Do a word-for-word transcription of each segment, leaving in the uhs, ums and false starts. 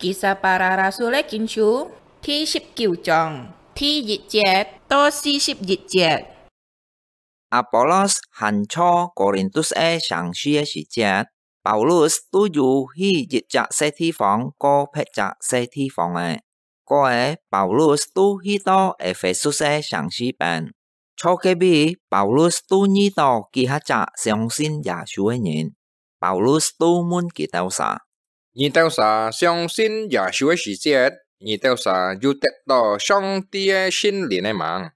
Kisah Para Rasul-é Kincu，第十九章，第一節到四十一節。亞波羅還在哥林多个城市个時節， Paulus都有去一隻細地方過別隻細地方个。過後，Paulus都去到Ephesus个城市邊。在該位，Paulus都遇到幾下隻相信耶穌个人。Paulus都問佢兜儕：「你兜儕相信耶穌个時節，你兜儕有得到上帝个聖靈个吂？」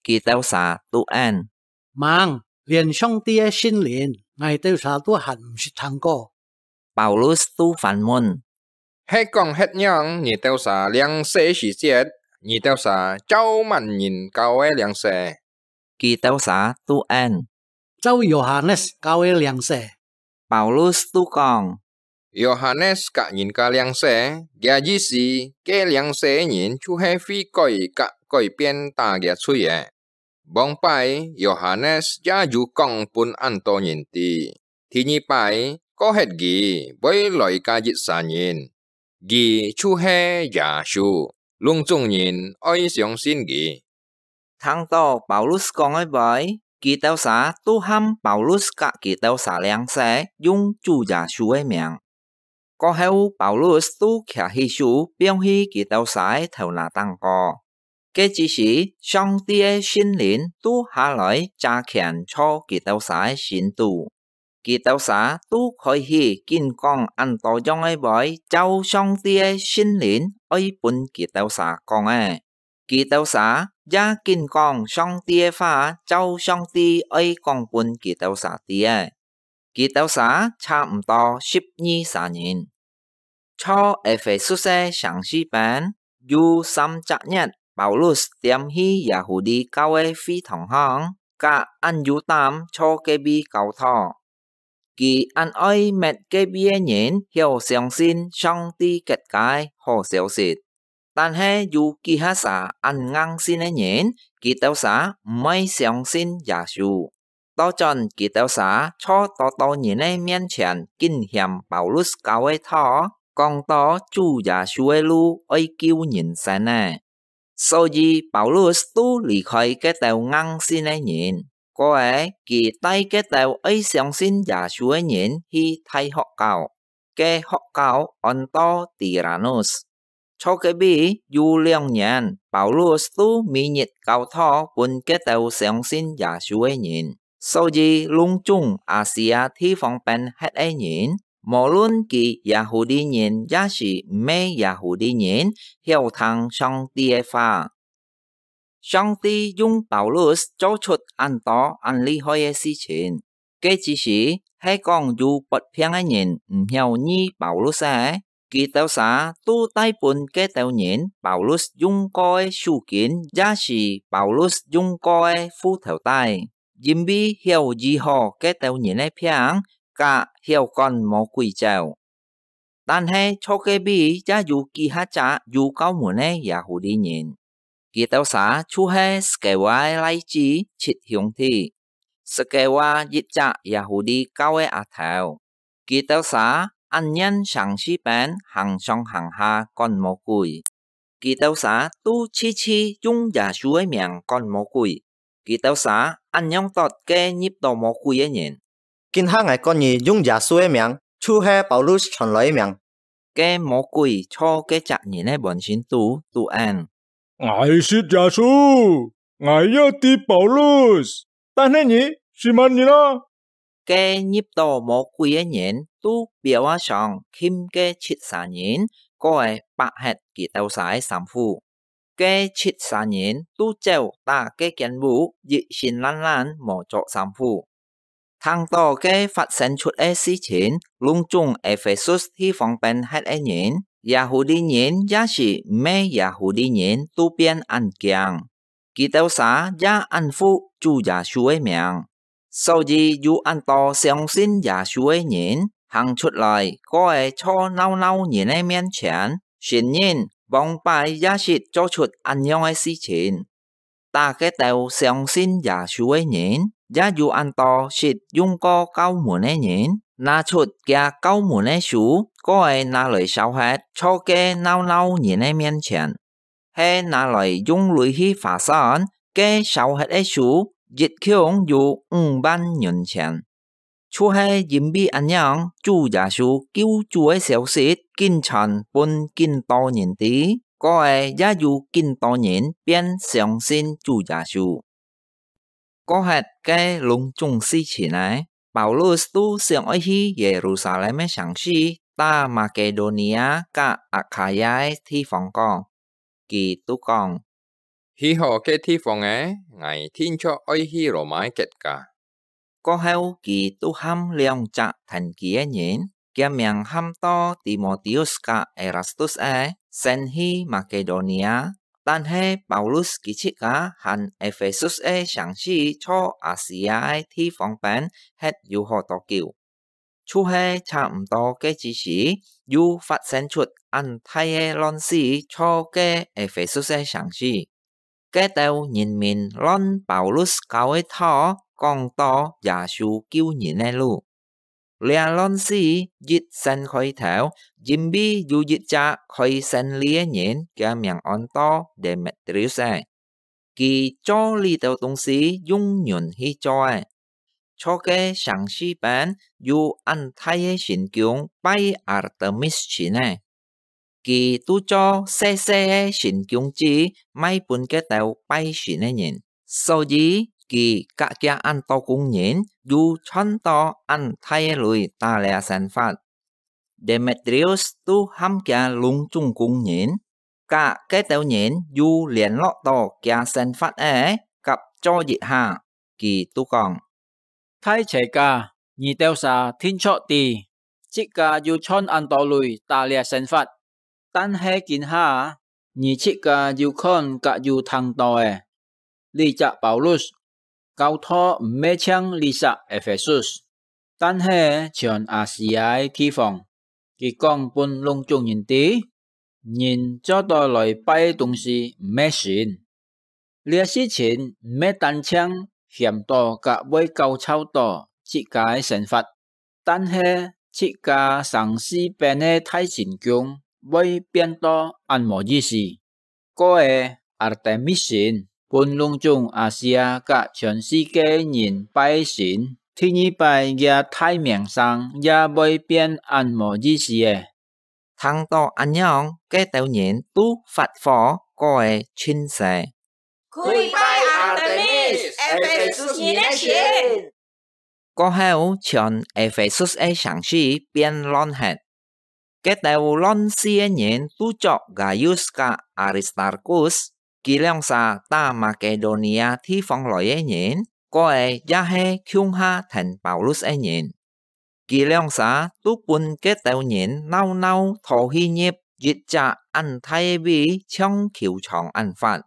佢兜儕都應：「吂，連上帝个聖靈，𠊎兜儕都還毋識聽過。」Paulus都反問：「係講㧯仰你兜儕領洗時節，你兜儕照麼人教个領洗？」佢兜儕都應：「照Yohanes教个領洗。」 Paulus都講：「Yohanes教人家領洗，厥意思，該領洗个人就係悔改佮改變打厥罪个。往擺，Yohanes也有講分恁多人知。第二擺，過歇佢會來加一儕人，佢就係耶穌，攏總人愛相信佢。」 聽到Paulus講个話，佢兜儕都喊Paulus佮佢兜儕領洗，用主耶穌个名。過後，Paulus都擎起手，放去佢兜儕个頭那頂高。該之時，上帝个聖靈都下來，遮權在佢兜儕个心肚。 佢兜儕都開始緊講恁多樣个話，照上帝个聖靈愛分佢兜儕講个。佢兜儕也緊講上帝个話，照上帝愛講分佢兜儕知个。佢兜儕差毋多十二儕人。 在Ephesus个城市邊，有三隻月，Paulus踮去Yahudi教个會堂項，佮恁有膽在該位教導。佢恁愛搣該位个人曉相信上帝結界好消息。但係有幾下儕恁硬性个人，佢兜儕毋愛相信耶穌。 倒轉佢兜儕在多多人个面前緊嫌Paulus教个道，講到主耶穌个路愛救人生个。所以Paulus都離開該兜硬性个人，過後佢帶該兜愛相信耶穌个人去大學校。 个學校安到Tiranus。在該位有兩年，Paulus都每日教導分該兜相信耶穌个人。所以攏總亞細亞地方邊歇个人，無論佢Yahudi人也是毋係Yahudi人，曉聽上帝个話。 上帝用Paulus做出恁多恁厲害个事情。該之時，係講有發病个人毋曉醫Paulus个，佢兜儕都帶分該兜人Paulus用過个手巾，也是Paulus用過个褲頭帶，因為曉醫好該兜人个病，佮曉趕魔鬼走。 但係在該位也有幾下隻有教門个Yahudi人，佢兜儕就係Skewa个倈子七兄弟。Skewa一隻Yahudi教个阿頭，佢兜儕恁樣城市邊行上行下趕魔鬼。 佢兜儕都時時用耶穌个名趕魔鬼。佢兜儕恁樣答該入到魔鬼个人：「今下𠊎告你用耶穌个名，就係Paulus傳來个名。」該魔鬼在該隻人个滿身肚都應：「𠊎識耶穌，𠊎也知Paulus，但係你係麼人啊？」 該入到魔鬼个人都表啊上㧡該七儕人，過後剝忒佢兜儕个衫褲。該七儕人都走打該間屋，一身爛爛無著衫褲。聽到該發生出个事情，攏總Ephesus地方邊歇个人，Yahudi人也是毋係Yahudi人，都變恁驚。 佢兜儕也恁服主耶穌个名。所以有恁多相信耶穌个人行出來，過後在鬧鬧人个面前，承認往擺也識做出恁樣个事情。打該兜相信耶穌个人，也有恁多識用過酵母个人，拿出厥酵母个書，過仔拿來燒忒，坐該鬧鬧人个面前。係拿來用鐳去劃算，該燒忒个書，一共有五萬銀錢。就係因為恁樣，主耶穌救主个消息緊傳分緊多人知，過仔也有緊多人變相信主耶穌。過忒該攏總事情仔，保羅都想愛去耶路撒冷个城市，搭馬其多尼亞佮亞該亞个地方講。佢都講：「去好該地方仔，𠊎定著愛去羅馬个國家。」過後，佢都喊兩隻跈佢个人，厥名喊到提摩提烏佮Erastus仔，先去馬其多尼亞。但係保羅佢自家還Ephesius个城市坐亞細亞个地方邊歇有好多久。就係差毋多該之時，又發生出恁大个亂事，坐該Ephesius个城市。該兜人民亂保羅教个道，講到耶穌救人个路。這亂事一先開頭，因為有一隻開生理个人，厥名安到Demetrius仔。佢做這兜東西用銀去做个。坐該城市邊有恁大个神宮拜Artemis神仔。佢都做細細个神宮子賣分該兜拜神个人，所以佢佮厥恁多工人又賺到恁大个鐳打這生活。Demetrius都喊厥攏總工人，佮該兜人又聯絡到厥生活仔合作一下，佢都講：「大齊家，你兜儕定著知，自家又賺恁多鐳打這生活，但係今下，你自家有看佮有聽到个，這隻保羅，教導毋係淨這隻Ephesius，但係全亞細亞个地方，佢講分攏總人知，人做到來拜个東西毋係神。」這事情毋係單淨限到佮會攪吵到自家个生活，但係自家城市邊个大神宮會變到恁無意思。過仔Artemis神分攏總亞細亞佮全世界人拜神，第二擺厥大名聲也會變恁無意思个。聽到恁樣，該兜人都發火，過仔盡勢。「跪拜Artemis，Ephesius人个神！」過後，全Ephesius个城市變亂忒。該兜亂事个人都捉Gaius佮Aristarchus，佢兩儕打Makedonia地方來个人，過仔也係共下跈保羅个人。 佢兩儕都分該兜人鬧鬧討去入一隻恁大个位，像球場恁闊。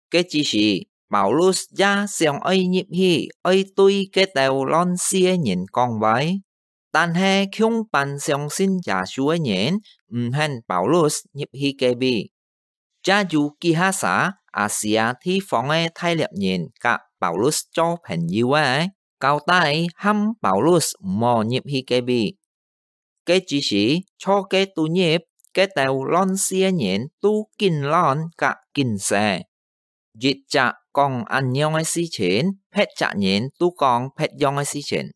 該之時，保羅也想愛入去，愛對該兜亂事个人講話，但係共班相信耶穌个人毋肯保羅入去該位。 也有幾下儕亞細亞地方个大力人佮保羅做朋友个，交代喊保羅毋好入去該位。該之時，坐該肚入，該兜亂事个人都緊亂佮緊勢。一隻講恁樣个事情，別隻人都講別樣个事情。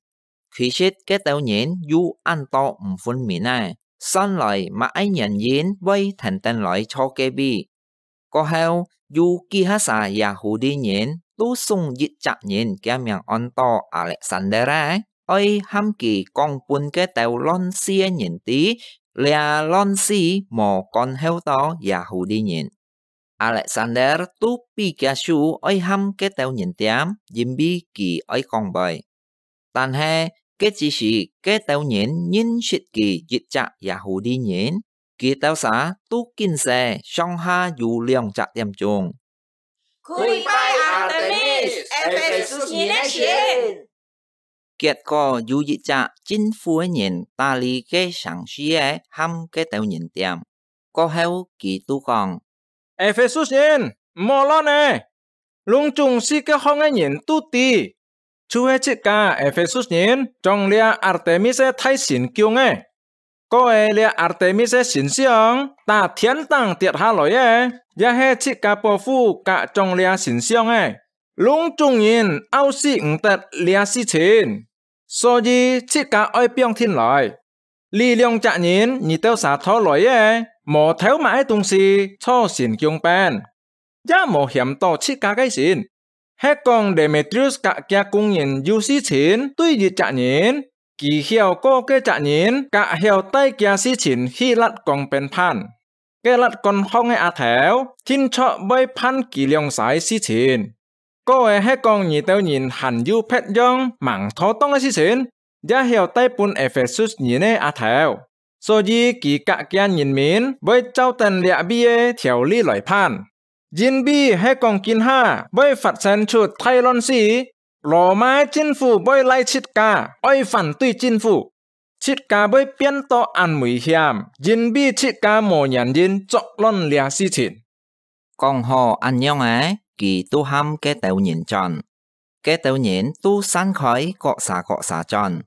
其實該兜人有恁多毋分明仔，算來麼个原因會跈等來坐該位。過後，有幾下儕Yahudi人都送一隻人，厥名安到Alexander个，愛喊佢講分該兜亂事个人知，這亂事無干擾到Yahudi人。 Alexander都比較輸愛喊該兜人恬，因為佢愛講話。但係，該之時，該兜人認識佢一隻Yahudi人，佢兜儕都緊勢，上下有兩隻點鐘。「跪拜Artemis，Ephesius人个神！」 結果有一隻政府个人打理該城市个喊該兜人恬。過後佢都講：「Ephesius人，毋好亂仔！攏總世界項个人都知，就係自家Ephesus人將這Artemis大神供个。過个這Artemis神像打天頂跌下來个，也係自家報復甲將這神像个，攏總人拗死毋得這事情。所以自家愛放定來。這兩隻人你兜儕討來个，無偷麼个東西坐神供邊，也無嫌到自家个神。係講Demetrius甲厥工人有事情對一隻人，佢曉過該隻人甲曉帶厥事情去搦講邊辦。該搦講項个阿頭，定著會辦佢兩儕事情。過个係講你兜人還有別樣吂妥當个事情，也曉帶分Ephesus人个阿頭，所以佢甲厥人民會照等這位个條例來辦。因為係講今下會發生出大亂世，羅馬政府會賴自家愛反對政府，自家會變到恁危險，因為自家無原因作亂這事情。講好恁樣仔，佢都喊該兜人轉。該兜人都散開各儕各儕轉，